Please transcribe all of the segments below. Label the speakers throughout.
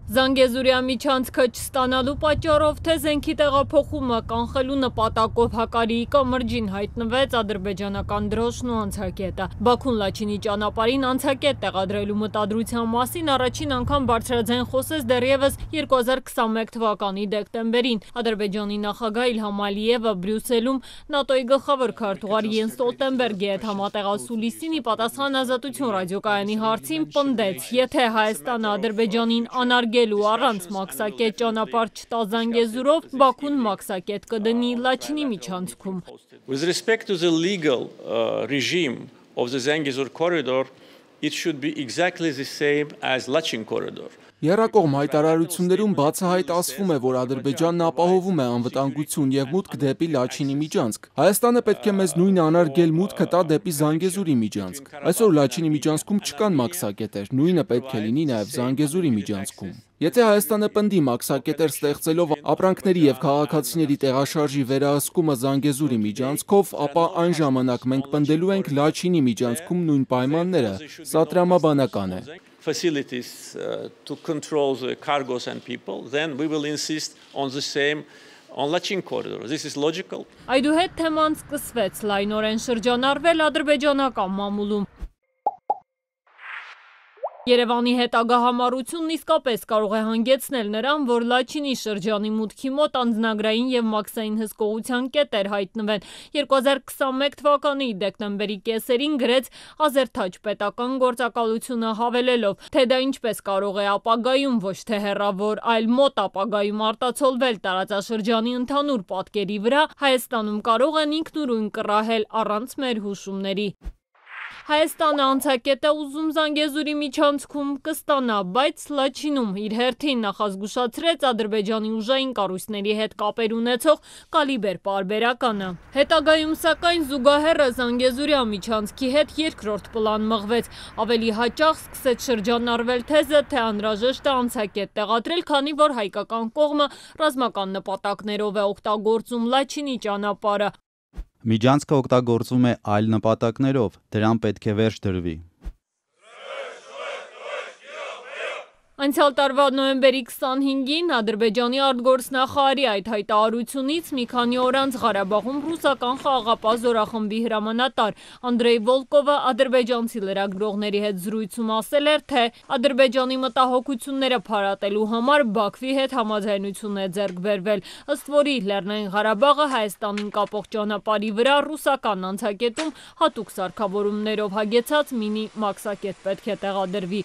Speaker 1: Զանգեզուրյա միջանցքը չստանալու պատճառով թե զենքի տեղափոխումը կանխելու նպատակով Հակարիի կամրջին հայտնվեց ադրբեջանական դրոշն ու անցակետը։ Բաքուն Լաչինի ճանապարհին անցակետ տեղադրելու մտադրության մասին առաջին անգամ բարձրաձայն խոսեց դեռևս 2021 թվականի դեկտեմբերին։ Ադրբեջանի նախագահ Իլհամ Ալիևը Բրյուսելում ՆԱՏՕ-ի գլխավոր քարտուղար Յենս Ստոլտենբերգի հետ համատեղացու լիսինի պատասխան Ազատություն ռադիոկայանի հարցին պնդեց, եթե Հայաստանը Ադրբեջանին անարգելու առանց մաքսակետ ճանապարհ չտա Զանգեզուրով, Բաքուն մաքսակետ կդնի Լաչինի միջանցքում։
Speaker 2: With respect to the legal regime of the Zangezur corridor, it should be exactly the same as Lachin corridor.
Speaker 3: Եռակողմ հայտարարություններում բացահայտ ասվում է, որ Ադրբեջանն ապահովում է անվտանգություն և մուտք դեպի Լաչինի միջանցք։ Հայաստանը պետք է մեզ նույն անարգել մուտքը տա դեպի Զանգեզուրի միջանցք։ Այսօր Լաչինի միջանցքում չկան մաքսակետեր, նույնը պետք է լինի նաև Զանգեզուրի միջանցքում։ Եթե Հայաստանը պնդի մաքսակետեր ստեղծելով ապրանքների և քաղաքացիների տեղաշարժի վերահսկումը Զանգեզուրի միջանցքով, ապա այն ժամանակ մենք պնդելու ենք Լաչինի միջանցքում նույն պայմանները։ Սա տրամաբանական է։
Speaker 2: Facilities to control the cargos and people, then we will insist on the same on Lachin corridor. This is logical.
Speaker 1: Այդուհետ թեման սկսվեց լայնորեն շրջանառվել ադրբեջանական մամուլում։ Երևանի հետագա համառությունն իսկապես կարող է հանգեցնել նրան, որ Լաչինի շրջանի մուտքի մոտ անձնագրային և մաքսային հսկողության կետեր հայտնվեն։ 2021 թվականի դեկտեմբերի կեսերին գրեց Ազերթաչ պետական գործակալությունը հավելելով, թե դա ինչպես կարող է ապագայում ոչ թե հեռավոր, այլ մոտ ապագայում արտացոլվել տարածաշրջանի ընդհանուր պատկերի վրա, Հայաստանում կարող են ինքնուրույն կռահել առանց մեր հուշումների։ Հայաստանը անցակետ է ուզում Զանգեզուրի միջանցքում կստանա, բայց Լաչինում իր հերթին նախազգուշացրեց Ադրբեջանի ուժային կառույցների հետ կապեր ունեցող կալիբեր պարբերականը։ Հետագայում սակայն զուգահեռը Զանգեզուրյա միջանցքի հետ երկրորդ պլան մղվեց։ Ավելի հաճախ սկսեց շրջանառվել թեզը, թե անհրաժեշտ է անցակետ տեղադրել, քանի որ հայկական կողմը ռազմական նպատակներով է օգտագործում Լաչինի ճանապարհը։
Speaker 4: Միջանցքը օգտագործվում է այլ նպատակներով, դրան պետք է վերջ դրվի։
Speaker 1: Անցյալ տարվա նոյեմբերի 25-ին Ադրբեջանի արտգործնախարարի այդ հայտարարությունից մի քանի օր անց Ղարաբաղում ռուսական խաղաղապահ զորախմբի հրամանատար Անդրեյ Վոլկովը ադրբեջանցի լրագրողների հետ զրույցում ասել էր, թե Ադրբեջանի մտահոգությունները փարատելու համար Բաքվի հետ համաձայնություն է ձեռք բերվել, ըստ որի Լեռնային Ղարաբաղը Հայաստանին կապող ճանապարհի վրա ռուսական անցակետում հատուկ սարքավորումներով հագեցած մինի մաքսակետ պետք է տեղադրվի։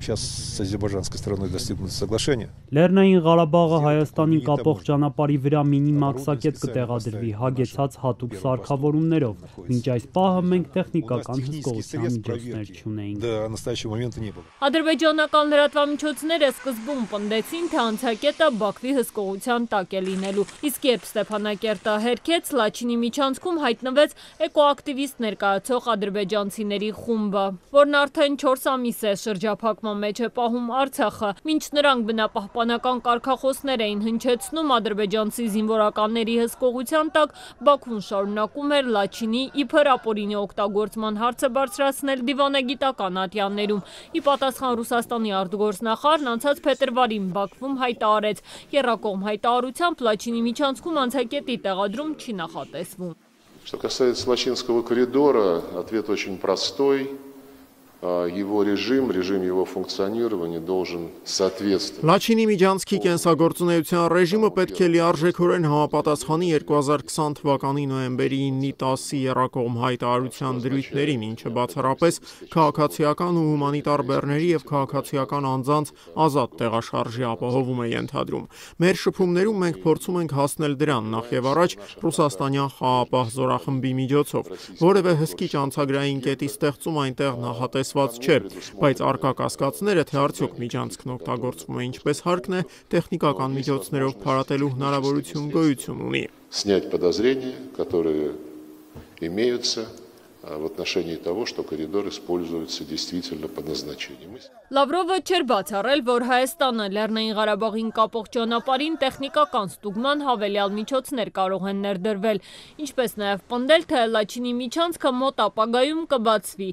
Speaker 5: Сейчас с азербайджанской стороной достигнуто соглашение.
Speaker 6: Լեռնային Ղարաբաղը Հայաստանին կապող ճանապարհի վրա մինի մաքսակետ կտեղադրվի, հագեցած հատուկ սարքավորումներով։ Մինչ այս պահը մենք տեխնիկական հսկողության միջոցներ չունեինք։
Speaker 5: До настоящего момента не было.
Speaker 1: Ադրբեջանական լրատվամիջոցները սկզբում պնդեցին, թե անցակետը Բաքվի հսկողության տակ է լինելու, իսկ երբ Ստեփանակերտը հերքեց, Լաչինի միջանցքում հայտնվեց էկոակտիվիստ ներկայացող ադրբեջանցիների խումբը, որն արդեն 4 ամիս է շրջափակման մեջ է պահում Արցախը։ Մինչ նրանք բնապահպանական կարգախոսներ էին հնչեցնում ադրբեջանցի զինվորականների հսկողության տակ, Բաքուն շարունակում էր Լաչինի իբր ապօրինի օգտագործման հարցը բարձրացնել դիվանագիտական ատյաններում։ Ի պատասխան Ռուսաստանի արտգործնախարարն անցած փետրվարին Բաքվում հայտարարեց, եռակողմ հայտարարությամբ Լաչինի միջանցքում անցակետի տեղադրում չի նախատեսվում։
Speaker 7: Что касается Лачинского коридора, ответ очень простой. Его режим его функционирования должен соответствовать.
Speaker 8: Լաչինի միջանցքի կենսագործունեության ռեժիմը պետք է լիարժեքորեն համապատասխանի 2020 թվականի նոյեմբերի 9-ի 10-ի եռակողմ հայտարարության դրույթներին, ինչը բացառապես քաղաքացիական ու հումանիտար բեռների և քաղաքացիական անձանց ազատ տեղաշարժի ապահովում է ենթադրում։ Մեր շփումներում մենք փորձում ենք հասնել դրան, նախ եւ առաջ Ռուսաստանյան խաղաղապահ զորախմբի միջոցով, որևէ հսկիչ անցագրային կետի ստեղծում այնտեղ նախատեսված չէ, բայց արկա կասկածները, թե արդյոք միջանցքն օգտագործվում է ինչպես հարկն է, տեխնիկական միջոցներով փարատելու հնարավորություն գոյություն ունի։
Speaker 7: Снять подозрения, которые имеются в отношении того, что коридор используется действительно по назначению.
Speaker 1: Լավրովը չէր բացառել, որ Հայաստանը Լեռնային Ղարաբաղին կապող ճանապարհին տեխնիկական ստուգման հավելյալ միջոցներ կարող են ներդրվել, ինչպես նաև պնդել, թե Լաչինի միջանցքը մոտ ապագայում կբացվի։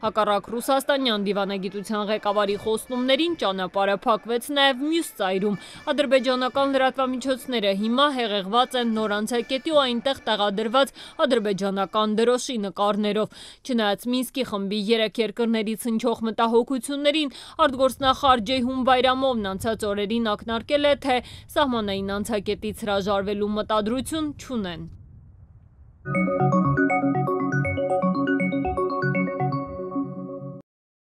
Speaker 1: Հակառակ ռուսաստանյան դիվանագիտության ղեկավարի խոստումներին ճանապարհը փակվեց նաև մյուս ծայրում։ Ադրբեջանական լրատվամիջոցները հիմա հեղեղված են նոր անցակետի ու այնտեղ տեղադրված ադրբեջանական դրոշի նկարներով։ Չնայած Մինսկի խմբի 3 երկրներից հնչող մտահոգություններին, արտգործնախարար Ջեյհուն Բայրամովն անցած օրերին ակնարկել է, թե սահմանային անցակետից հրաժարվելու մտադրություն չունեն։